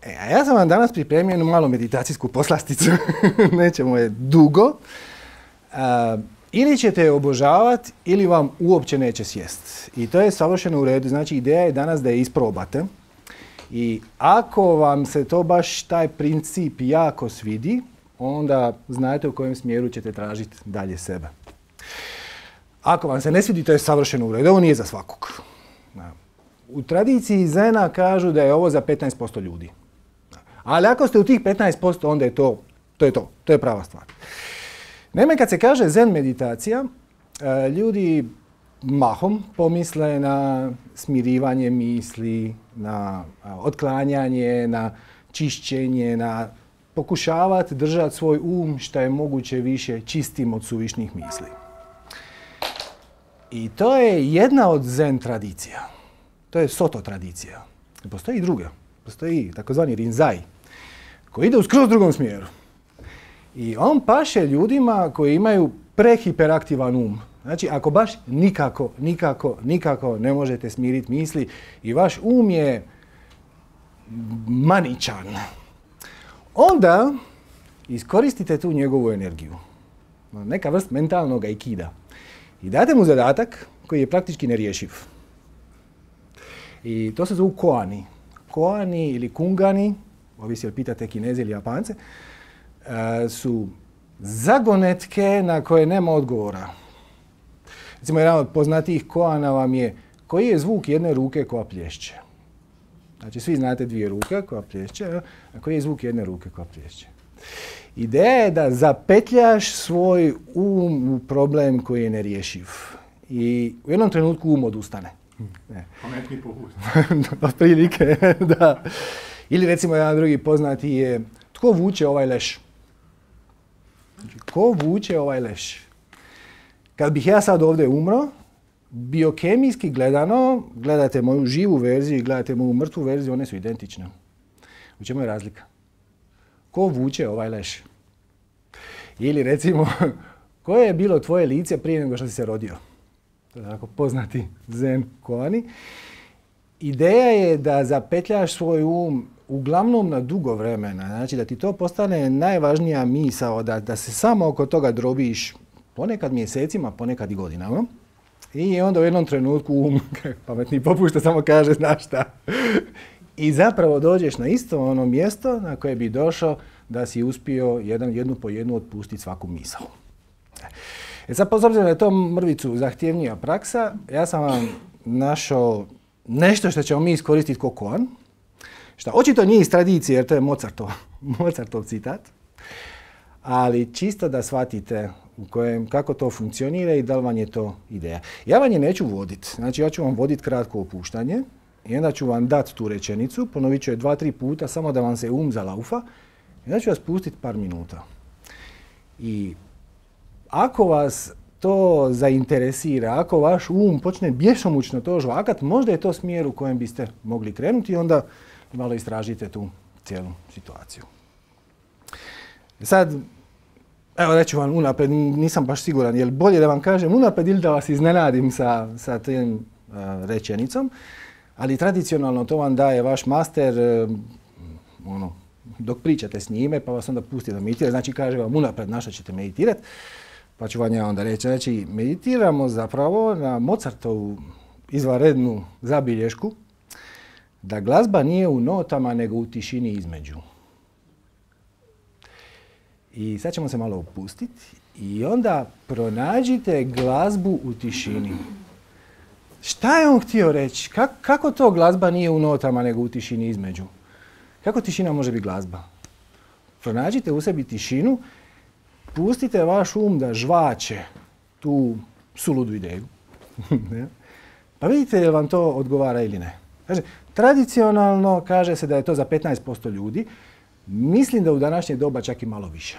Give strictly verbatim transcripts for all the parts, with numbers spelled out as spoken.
E, a ja sam vam danas pripremio jednu malu meditacijsku poslasticu, nećemo je dugo. A, ili ćete je obožavati, ili vam uopće neće sjest. I to je savršeno u redu. Znači, ideja je danas da je isprobate. I ako vam se to baš taj princip jako svidi, onda znate u kojem smjeru ćete tražiti dalje sebe. Ako vam se ne svidi, to je savršeno u redu. Ovo nije za svakog. U tradiciji Zena kažu da je ovo za petnaest posto ljudi. Ali ako ste u tih petnaest posto, onda je to, to je to. To je prava stvar. Naime, kad se kaže Zen meditacija, ljudi mahom pomisle na smirivanje misli, na otklanjanje, na čišćenje, na pokušavati držati svoj um što je moguće više čistim od suvišnih misli. I to je jedna od Zen tradicija. To je Soto tradicija. Postoji i druga. Postoji takozvani Rinzai, koji ide u skroz drugom smjeru. I on paše ljudima koji imaju prehiperaktivan um. Znači, ako baš nikako, nikako, nikako ne možete smiriti misli i vaš um je maničan, onda iskoristite tu njegovu energiju. Neka vrst mentalnog aikida. I date mu zadatak koji je praktički nerješiv. I to se zovu koani. Koani ili kungani, ovisi jel pitate Kineze ili Japance, su zagonetke na koje nema odgovora. Recimo, jedan od poznatijih koana vam je koji je zvuk jedne ruke koja plješće. Znači, svi znate dvije ruke koja plješće, a koji je zvuk jedne ruke koja plješće. Ideja je da zapetljaš svoj um u problem koji je nerješiv. I u jednom trenutku um odustane. Pametni popust. Otprilike, da. Ili recimo jedan drugi poznati je tko vuče ovaj leš? Znači, ko vuče ovaj leš? Kad bih ja sad ovdje umro, biokemijski gledano, gledate moju živu verziju i gledate moju mrtvu verziju, one su identične. U čemu je razlika? Ko vuče ovaj leš? Ili recimo, koje je bilo tvoje lice prije nego što si se rodio? To je tako poznati Zen koani. Ideja je da zapetljaš svoj um uglavnom na dugo vremena. Znači da ti to postane najvažnija misao, da, da se samo oko toga drobiš ponekad mjesecima, ponekad i godinama. I onda u jednom trenutku um, pametni popušta, samo kaže znaš šta. I zapravo dođeš na isto ono mjesto na koje bi došao da si uspio jedan, jednu po jednu otpustiti svaku misao. E sad, s obzirom da je to mrvicu zahtjevnija praksa, ja sam vam našao nešto što ćemo mi iskoristiti kao koan, što očito nije iz tradicije jer to je Mozartov, Mozartov citat, ali čisto da shvatite u kojem, kako to funkcionira i da li vam je to ideja. Ja vam je neću voditi, znači ja ću vam voditi kratko opuštanje i onda ću vam dati tu rečenicu, ponovit ću je dva, tri puta samo da vam se um zalaufa i onda ću vas pustiti par minuta. I ako vas to zainteresira, ako vaš um počne bjesomučno to žvakat, možda je to smjer u kojem biste mogli krenuti i onda malo istražite tu cijelu situaciju. Sad, evo reću vam unaprijed, nisam baš siguran, je li bolje da vam kažem unaprijed ili da vas iznenadim sa, sa tim uh, rečenicom, ali tradicionalno to vam daje vaš master uh, ono, dok pričate s njime, pa vas onda pusti da meditirate, znači kaže vam unaprijed na što ćete meditirati. Pa ću vam ja onda reći, znači meditiramo zapravo na Mozartovu izvanrednu zabilješku da glazba nije u notama nego u tišini između. I sad ćemo se malo opustiti i onda pronađite glazbu u tišini. Šta je on htio reći? Kako, kako to glazba nije u notama nego u tišini između? Kako tišina može biti glazba? Pronađite u sebi tišinu. Pustite vaš um da žvače tu suludu ideju. Pa vidite je li vam to odgovara ili ne. Kaže, tradicionalno kaže se da je to za petnaest posto ljudi. Mislim da u današnje doba čak i malo više.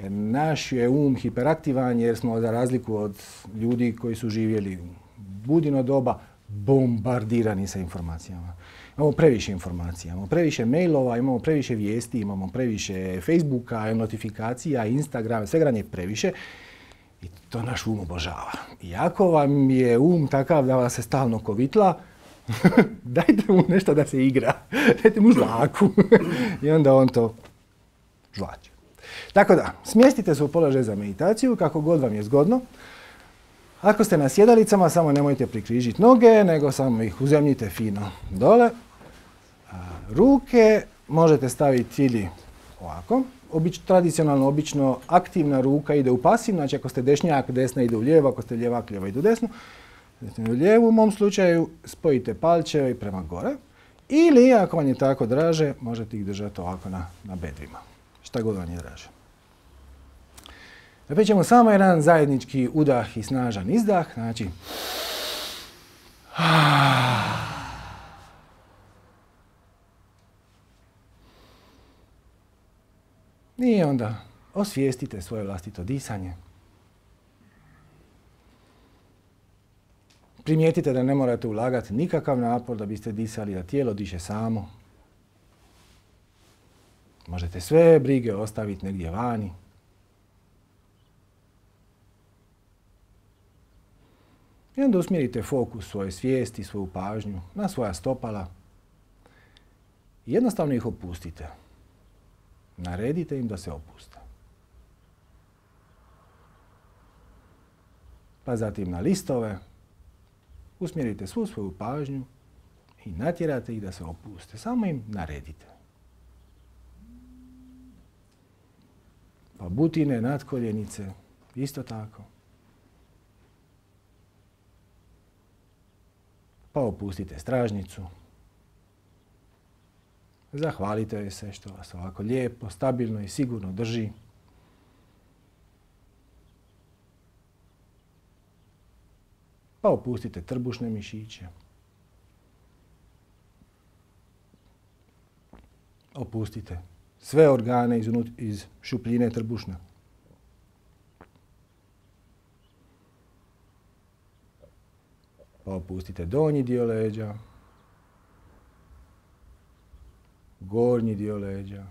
Jer naš je um hiperaktivan jer smo za razliku od ljudi koji su živjeli u budino doba bombardirani sa informacijama. Imamo previše informacija, imamo previše mailova, imamo previše vijesti, imamo previše Facebooka, notifikacija, Instagrama, svega je previše i to naš um obožava. I ako vam je um takav da vas se stalno kovitla, Dajte mu nešto da se igra. Dajte mu žvaku. I onda on to žvaće. Tako da, smjestite se u položaj za meditaciju kako god vam je zgodno. Ako ste na sjedalicama, samo nemojte prikrižiti noge, nego samo ih uzemljite fino dole. A ruke možete staviti ili ovako. Obič, tradicionalno, obično, aktivna ruka ide u pasivno, znači ako ste dešnjak, desna ide u lijevo, ako ste ljevak, lijeva ide u desnu. U lijevu, u mom slučaju, spojite palčeve i prema gore. Ili, ako vam je tako draže, možete ih držati ovako na, na bedrima. Šta god vam je draže. Naprijed ćemo samo jedan zajednički udah i snažan izdah. Znači, i onda osvijestite svoje vlastito disanje. Primijetite da ne morate ulagati nikakav napor da biste disali, da tijelo diše samo. Možete sve brige ostaviti negdje vani. I onda usmjerite fokus svoje svijesti, svoju pažnju na svoja stopala. I jednostavno ih opustite. Naredite im da se opuste. Pa zatim na listove. Usmjerite svu svoju pažnju i natjerate ih da se opuste. Samo im naredite. Pa butine, natkoljenice, isto tako. Pa opustite stražnicu. Zahvalite joj se što vas ovako lijepo, stabilno i sigurno drži. Pa opustite trbušne mišiće. Opustite sve organe iz, iz šupljine trbušne. Pa opustite donji dio leđa, gornji dio leđa,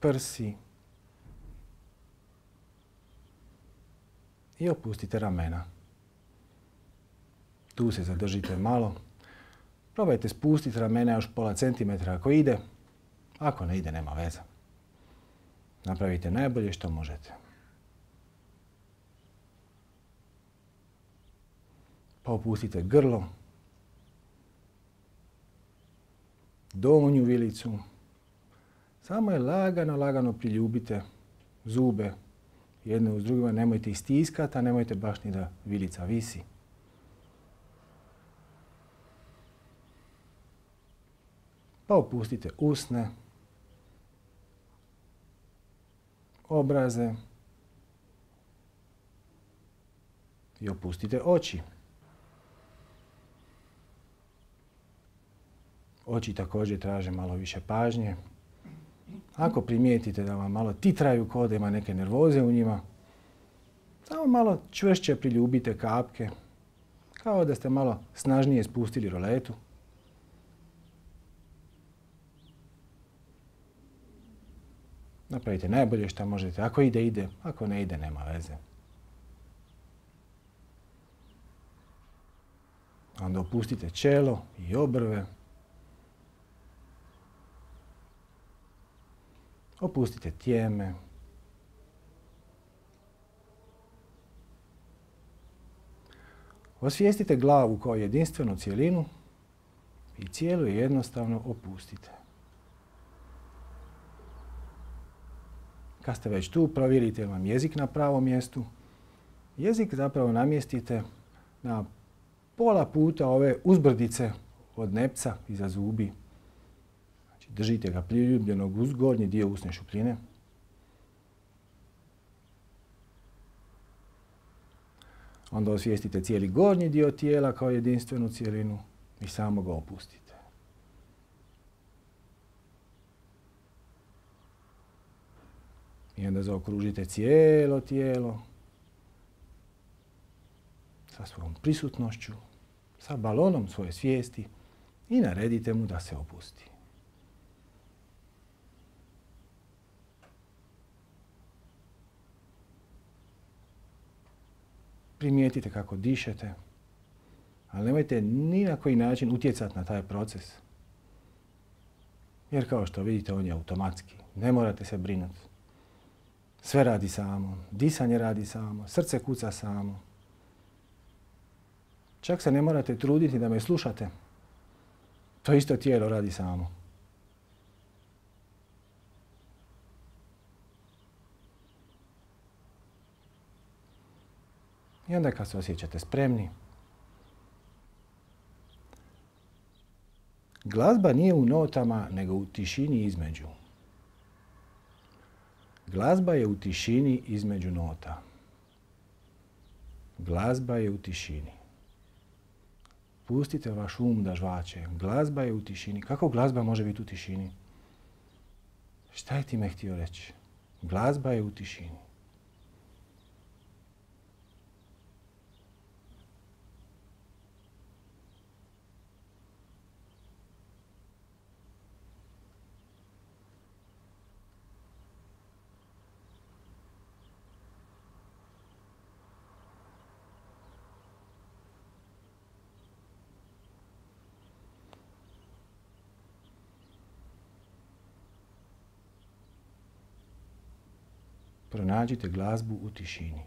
prsi i opustite ramena. Tu se zadržite malo. Probajte spustiti ramena još pola centimetra ako ide. Ako ne ide, nema veze. Napravite najbolje što možete. Pa opustite grlo, donju vilicu. Samo je lagano, lagano priljubite zube jedne uz drugima. Nemojte ih stiskati, a nemojte baš ni da vilica visi. Pa opustite usne, obraze i opustite oči. Oči također traže malo više pažnje. Ako primijetite da vam malo titraju kao da ima neke nervoze u njima, samo malo čvršće priljubite kapke, kao da ste malo snažnije spustili roletu. Napravite najbolje što možete. Ako ide, ide. Ako ne ide, nema veze. Onda opustite čelo i obrve. Opustite tijeme. Osvijestite glavu kao jedinstvenu cjelinu i cijelu je jednostavno opustite. Kad ste već tu, provjerite vam jezik na pravom mjestu. Jezik zapravo namjestite na pola puta ove uzbrdice od nepca iza zubi. Znači, držite ga priljubljenog uz gornji dio usne šupljine. Onda osvijestite cijeli gornji dio tijela kao jedinstvenu cjelinu i samo ga opustite. I onda zaokružite cijelo tijelo sa svojom prisutnošću, sa balonom svoje svijesti i naredite mu da se opusti. Primijetite kako dišete, Ali nemojte ni na koji način utjecati na taj proces. Jer kao što vidite, on je automatski. Ne morate se brinuti. Sve radi samo. Disanje radi samo. Srce kuca samo. Čak se ne morate truditi da me slušate. To isto tijelo radi samo. I onda kad se osjećate spremni, glazba nije u notama, nego u tišini između. Glazba je u tišini između nota. Glazba je u tišini. Pustite vaš um da žvače. Glazba je u tišini. Kako glazba može biti u tišini? Šta je time htio reći? Glazba je u tišini. Pronađite glazbu u tišini.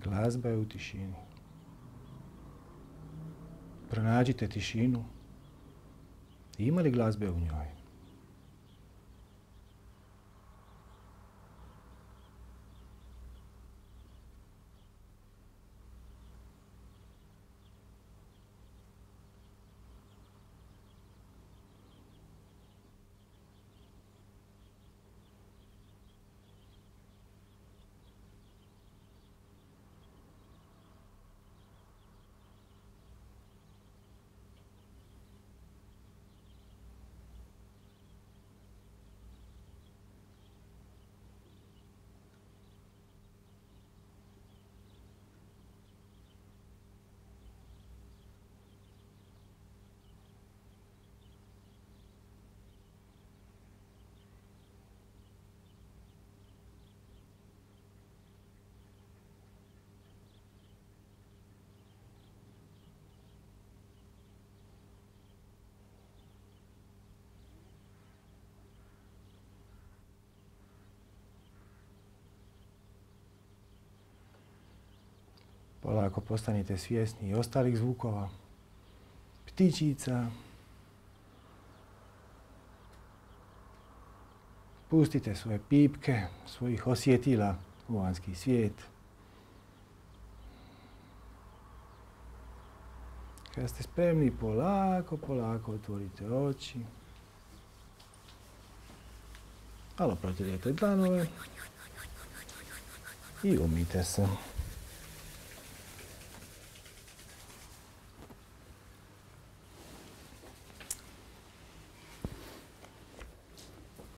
Glazba je u tišini. Pronađite tišinu. Ima li glazbe u njoj? Polako postanite svjesni i ostalih zvukova, ptičica. Pustite svoje pipke, svojih osjetila u vanjski svijet. Kada ste spremni, polako, polako otvorite oči. Malo protirajte dlanove i umijte se.